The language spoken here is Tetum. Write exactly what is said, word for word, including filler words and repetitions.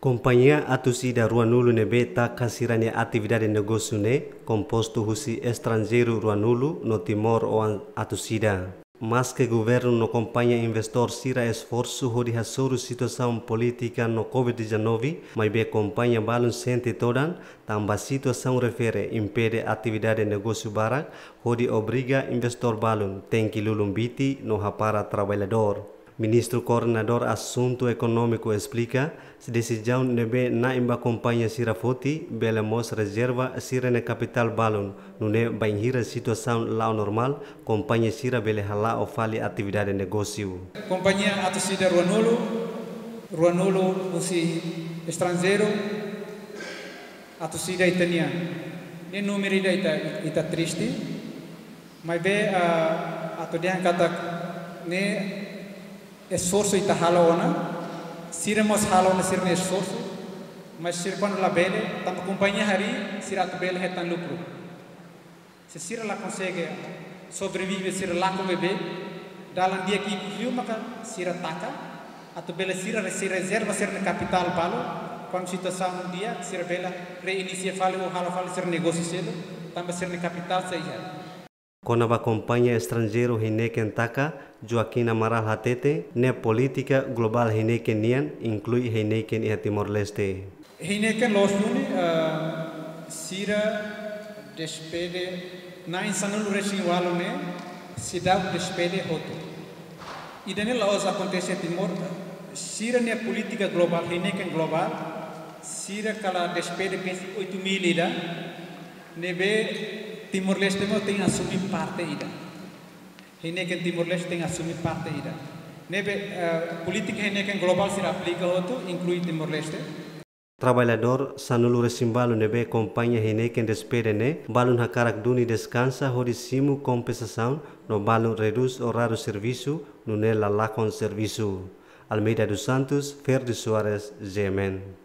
Kompañia atus ida ruanulu ne'ebé taka sira-nia atividade negósiu ne'e kompostu husi estranjeiru ruanulu no Timor-oan atus ida. Maske governu no kompañia investór sira esforsu hodi hasoru situasaun polítika no covid dezanove, maibé kompañia balun sente todan tanba situasaun refere impede atividade negósiu barak hodi obriga investór balun tenke lulun biti no hapara traballadór. Ministru Koordenadór Asuntu Ekonómiku esplika, desizaun ne'ebé na'in ba kompañia sira foti bele mós rezerva sira-nia kapitál balun, nune'e bainhira situasaun la'o normál, kompañia sira bele hala'o fali atividade negósiu. Kompañia atus ida ruanulu, ruanulu husi estranjeiru, atus ida ita-nian. Ne'e númeru ida ita, ita triste. Maibé, ah, atu dehan katak ne'e esforsu ita halo ona, sira mós halo ona sira-nia esforsu, mas sira kuandu labele, tanba kompañia harii, sira atu bele hetan lukru. Se sira la konsege sobrevive, sira lakon bebé, dalan di'ak ikus liu maka sira taka, atu bele sira re-, sira rezerva sira-nia kapitál balu, kuandu situasaun di'ak, sira bele reinisia fali ou halo fali sira negósiu seluk, tanba sira-nia kapitál sei iha. Kona-ba kompañia estranjeiru Heineken taka, Joaquim Amaral hatete, ne'e polítika globál Heineken nian, inklui Heineken iha Timor-Leste. Heineken loos duni, ah, sira despede, na'in sanulu-resin-ualu ne'e, seidauk despede hotu. Ida-ne'e la'ós akontese Timor, sira-nia polítika globál, Heineken globál, sira kala despede pensa oitu mil ida, ne'ebé Timor-Leste mós tenke asume parte ida. Heineken Timor-Leste tenke asume parte ida. Ne'ebé, eh, polítika Heineken globál sira aplika hotu, inklui Timor-Leste. Traballadór sanulu-resin-balu ne'ebé kompañia Heineken despede ne'e, balun hakarak duni deskansa hodi simu kompensasaun no balun redús oráriu servisu, nune'e la lakon servisu. Almeida dos Santos, Ferdi Soares, G M N.